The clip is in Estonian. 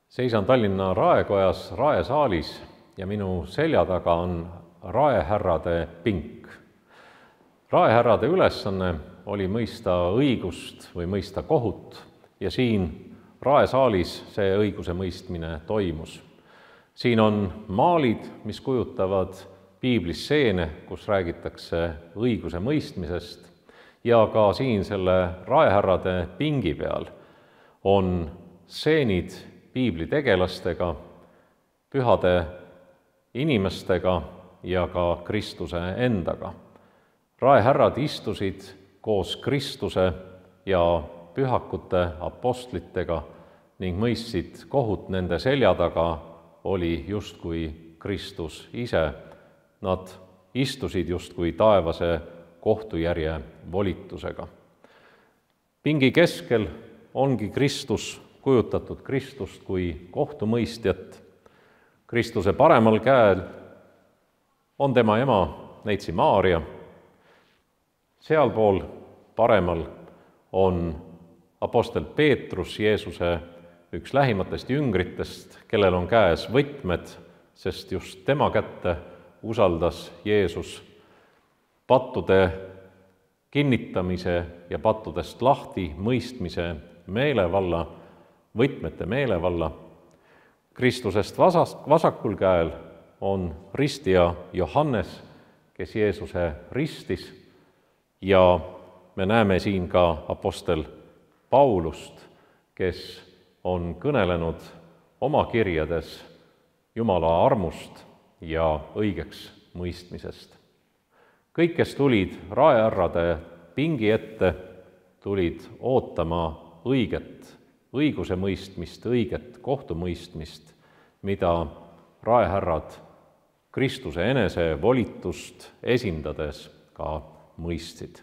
Seisan Tallinna Raekojas raesaalis ja minu selja taga on raehärrade pink. Raehärrade ülesanne oli mõista õigust või mõista kohut ja siin raesaalis see õiguse mõistmine toimus. Siin on maalid, mis kujutavad piiblis stseene, kus räägitakse õiguse mõistmisest, ja ka siin selle raehärrade pingi peal on stseenid piibli tegelastega, pühade inimestega ja ka Kristuse endaga. Raehärrad istusid koos Kristuse ja pühakute apostlitega ning mõistsid kohut nende selja taga oli justkui Kristus ise. Nad istusid justkui taevase kohtujärje volitusega. Pingi keskel ongi Kristus, kujutatud Kristust kui kohtumõistjat. Kristuse paremal käel on tema ema Neitsi Maarja. Sealpool paremal on apostel Peetrus, Jeesuse üks lähimatest jüngritest, kellel on käes võtmed, sest just tema kätte usaldas Jeesus pattude kinnitamise ja pattudest lahti mõistmise meelevalla, võtmete meelevalla. Kristusest vasakul käel on ristija Johannes, kes Jeesuse ristis, ja me näeme siin ka apostel Paulust, kes on kõnelenud oma kirjades Jumala armust ja õigeks mõistmisest. Kõik, kes tulid raehärrade pingi ette, tulid ootama õiget õiguse mõistmist, õiget kohtumõistmist, mida raehärrad Kristuse enese volitust esindades ka mõistsid.